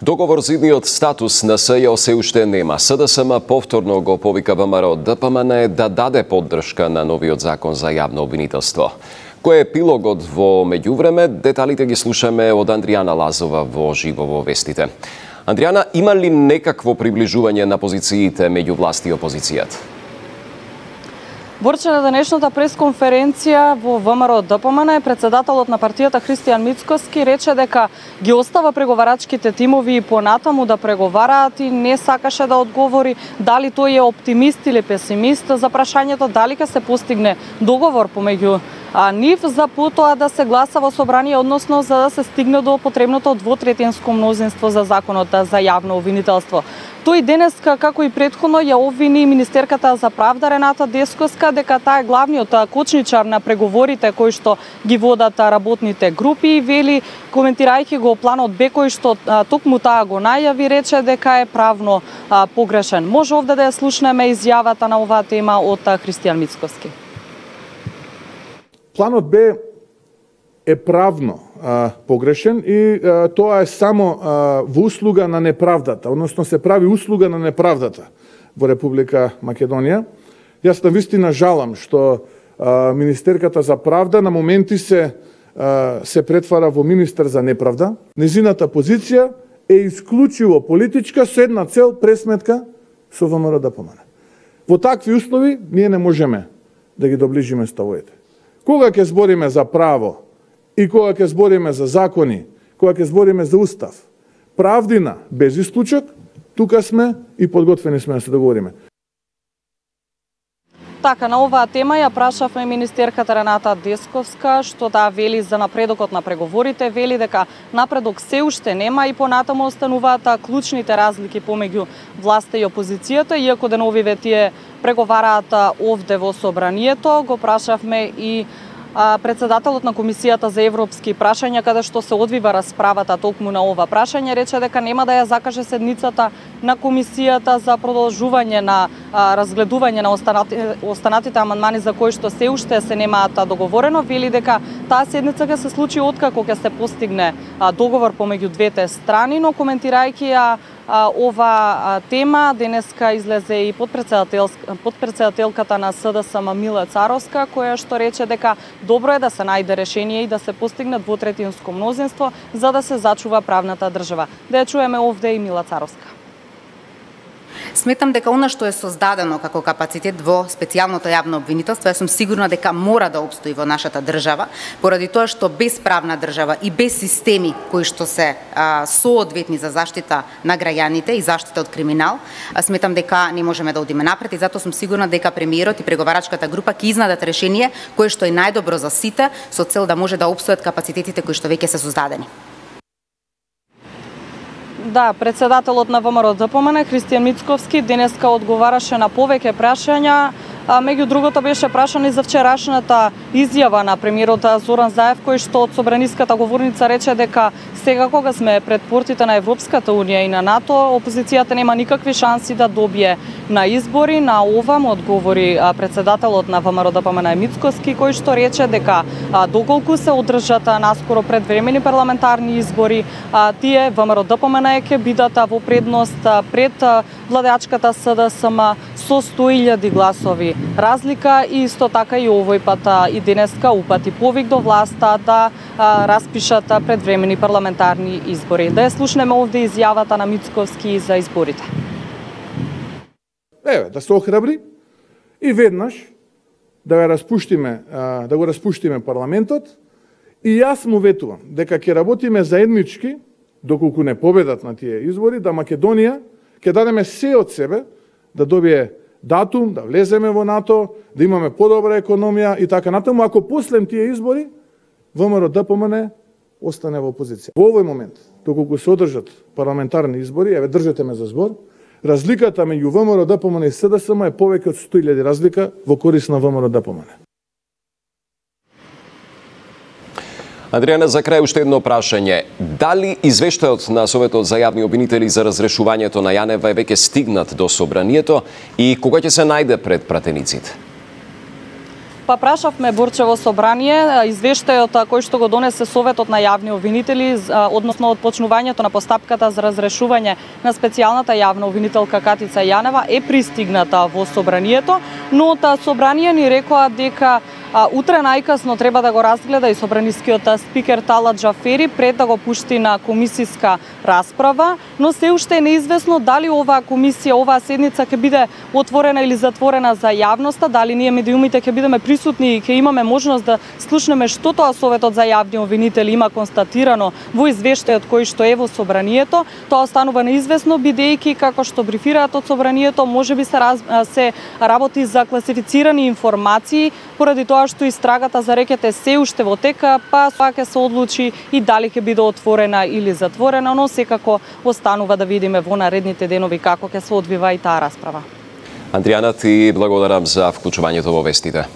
Договор за идниот статус на СЈО се уште нема. СДСМ повторно го повика ВМРО ДПМН да даде поддршка на новиот закон за јавно обвинителство. Кој е епилогот во меѓувреме? Деталите ги слушаме од Андријана Лазова во живо во вестите. Андријана, има ли некакво приближување на позициите меѓу власт и опозицијата? Борче, на денешната пресконференција во ВМРО ДПМН председателот на партијата Христијан Мицкоски рече дека ги остава преговарачките тимови и понатаму да преговараат и не сакаше да одговори дали тој е оптимист или песимист за прашањето дали ќе се постигне договор помеѓу нив за потоа да се гласа во собрание, односно за да се стигне до потребното двотретинско мнозинство за законот за јавно обвинителство. Тој денес, како и претходно, ја обвини министерката за правда Рената Десковска дека таа е главниот кочничар на преговорите кои што ги водат работните групи и вели, коментирајќи го планот Б кој што токму таа го најави, рече дека е правно погрешен. Може овде да ја слушнеме изјавата на оваа тема од Христијан Мицкоски. Планот Б е правно погрешен и тоа е само во услуга на неправдата, односно се прави услуга на неправдата во Република Македонија. Јас навистина жалам што министерката за правда на моменти се претвара во министер за неправда. Незината позиција е исклучиво политичка со една цел, пресметка со ВМРО ДПМН. Во такви услови ние не можеме да ги доближиме ставовите. Кога ќе збориме за право и кога ќе збориме за закони, кога ќе збориме за устав, правдина без исклучок, тука сме и подготвени сме да се договориме. Така, на оваа тема ја прашавме министерката Рената Десковска, што таа вели за напредокот на преговорите, вели дека напредок се уште нема и понатаму остануваат клучните разлики помеѓу власта и опозицијата, иако деновиве тие преговараат овде во собранието. Го прашавме и председателот на Комисијата за европски прашања, каде што се одвива расправата токму на ова прашање, рече дека нема да ја закаже седницата на Комисијата за продолжување на разгледување на останатите амандмани за кои што се уште се немаат договорено. Вели дека таа седница ќе се случи откако ќе се постигне договор помеѓу двете страни, но коментирајќи ја ова тема, денеска излезе и подпредседателката на СДСМ Мила Царовска, која што рече дека добро е да се најде решение и да се постигне двотретинско мнозинство за да се зачува правната држава. Да ја чуеме овде и Мила Царовска. Сметам дека она што е создадено како капацитет во специјалното јавно обвинителство, јас сум сигурна дека мора да обстои во нашата држава, поради тоа што без правна држава и без системи кои што се соодветни за заштита на граѓаните и заштита од криминал, сметам дека не можеме да одиме напред и затоа сум сигурна дека премиерот и преговарачката група ќе изнадат решение кое што е најдобро за сите, со цел да може да обстојат капацитетите кои што веќе се создадени. Да, председателот на ВМРО ДПМН Христијан Мицкоски денеска одговараше на повеќе прашања. Меѓу другото беше прашан и за вчерашната изјава на премиерот Зоран Заев, кој што од собраниската говорница рече дека сега кога сме пред портите на Европската унија и на НАТО, опозицијата нема никакви шанси да добие на избори. На ова му одговори председателот на ВМРО ДПМН Мицкоски, кој што рече дека доколку се одржат наскоро предвремени парламентарни избори, тие ВМРО ДПМН ќе бидат во предност пред владеачката СДСМ со 100.000 гласови разлика и исто така и овој пат и денеска упати повик до власта да распишат предвремени парламентарни избори. Да ја слушнеме овде изјавата на Мицковски за изборите. Да се охрабри и веднаш да го распуштиме парламентот и јас му ветувам дека ќе работиме заеднички доколку не победат на тие избори, да Македонија ќе дадеме се од себе да добие датум, да влеземе во НАТО, да имаме подобра економија и така натаму, ако после тие избори ВМРО ДПМН остане во опозиција. Во овој момент, доколку се одржат парламентарни избори, еве држете ме за збор, разликата меѓу ВМРО ДПМН и СДСМ е повеќе од 100.000 разлика во корис на ВМРО ДПМН. Андријана, за крај уште едно прашање. Дали извештајот на Советот за јавни обвинители за разрешувањето на Јанева е веќе стигнат до собранието и кога ќе се најде пред пратениците? Па прашавме Борчево собрание, извештајот кој што го донесе Советот на јавни обвинители, односно од почнувањето на постапката за разрешување на специјалната јавна обвинителка Катица Јанева е пристигната во собранието, но собрание ни рекоа дека утре најкасно треба да го разгледа и собранискиот спикер Талат Џафери пред да го пушти на комисиска расправа, но се уште е неизвестно дали оваа комисија, оваа седница ќе биде отворена или затворена за јавноста, дали ние медиумите ќе бидеме присутни и ќе имаме можност да слушнеме што тоа Советот за јавни обвинители има констатирано во извештајот кој што е во собранието. Тоа останува неизвестно бидејќи како што брифираат од собранието можеби се работи за класифицирани информации, поради тоа што истрагата за рекете се уште во тека, па ќе се одлучи и дали ќе биде отворена или затворена, но секако останува да видиме во наредните денови како ќе се одвива и таа расправа. Андријана, ти благодарам за вклучувањето во вестите.